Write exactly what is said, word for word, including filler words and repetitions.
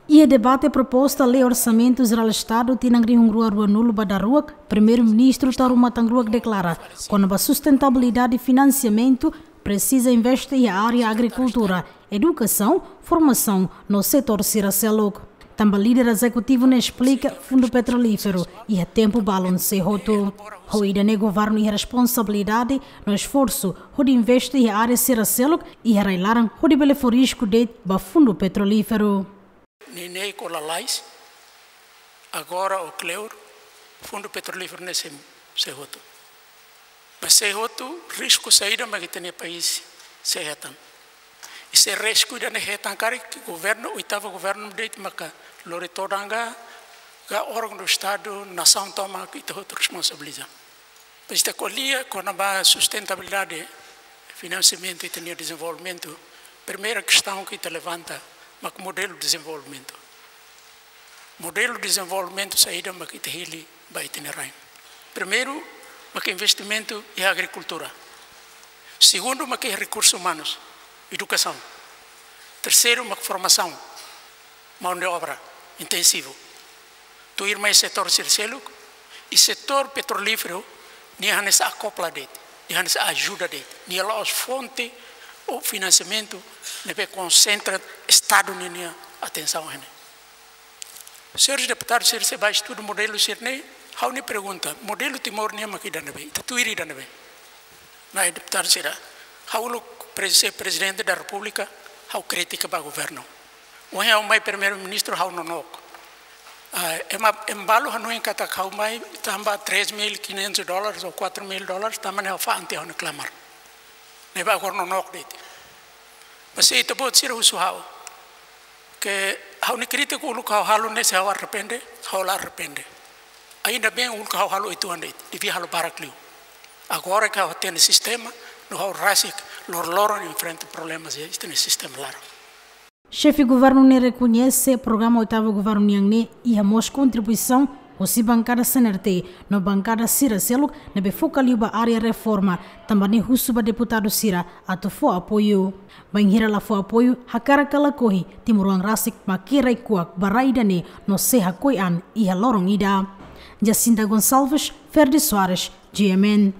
Iha debate proposta lei Orsamentu Jerál Estadu tinan rihun rua ruanulu ba daruak, Primeiru-Ministru Taur Matan Ruak deklara kona-ba sustentabilidade finansiamentu presiza investe iha área agrikultura, edukasaun, formasaun no setór sira seluk. Tanba líder ezekutivu ne'e esplika Fundu Petrolíferu iha tempu balun sei hotu. Ho ida-ne'e governu iha responsabilidade no esforsu hodi investe iha área sira seluk iha rai-laran hodi bele fó risku de'it ba Fundu Petrolíferu. Neineik ho lalais, agora ho kleur, Fundu Petrolíferu ne'e sei, sei hotu. Mas sei hotu, risku saida mak ita-nia país sei hetan. I se risku ida-ne'e hetan karik, governu, oitavu governu de'it maka lori todan ka, ka órgaun do Estadu, nasaun tomak ita hotu responsabiliza. Mas ita ko'alia kona-ba sustentabilidade finansiamentu ita-nia dezenvolvimentu, primeira kestaun ke ita levanta mak modelu dezenvolvimentu. Modelu dezenvolvimentu saida mak ita hili ba ita-nia rain. Primeiru, mak investimentu iha agrikultura. Segundu, mak iha rekursus umanus, edukasaun. Terseiru, mak formasaun, mão de obra intensivu. Tuirmai setór sira seluk, i setór petrolíferu, nia hanesan akopla de'it, nia hanesan ajuda de'it, nia la'ós fonte ou finansiamentu ne'ebé konsentra Estadu ninia atensaun iha ne'e. Señores deputadus sira, se bá estuda modelu sira-ne'e, ha'u-nia pergunta, modelu Timor nian mak ida-ne'ebé, ita tuir ida-ne'ebé? Maibé deputadu sira, ha'u uluk prez-, se Prezidente da Repúblika, ha'u kritika ba governu. Ohin ha'u mai Primeiru-Ministru, ha'u nonook. Ah, ema, ema balu hanoin katak ha'u mai tanba três mil e quinhentos dólares ou quatro mil dólares, tanba ne'e ha'u fa'an tiha ha'u-nia klamar. Ne'ebé agora nonook de'it. Mas se ita-boot sira husu ha'u, ke ha'u-nia krítika uluk ha'u halo ne'e, se ha'u arrepende, ha'u la arrepende. Ainda bem uluk ha'u halo uitoan de'it, devia halo barak liu. Agora ke ha'u hatene sistema, no ha'u rasik loroloron enfrenta problema iha ita-nia sistema laran. Xefe governu ne'e rekoñese programa oitavu governu nian ne'e iha mós kontribuisaun husi bankada C N R T no bankada sira seluk ne'ebé foka liu ba área reforma, tanba ne'e husu ba deputadu sira atu fó apoiu. Bainhira la fó apoiu, hakarak ka lakohi, timoroan rasik mak iha rai-kuak ba rai ida-ne'e no sei hakoi an iha loron ida. Jacinta Gonçalves, Ferdi Soares, G M N.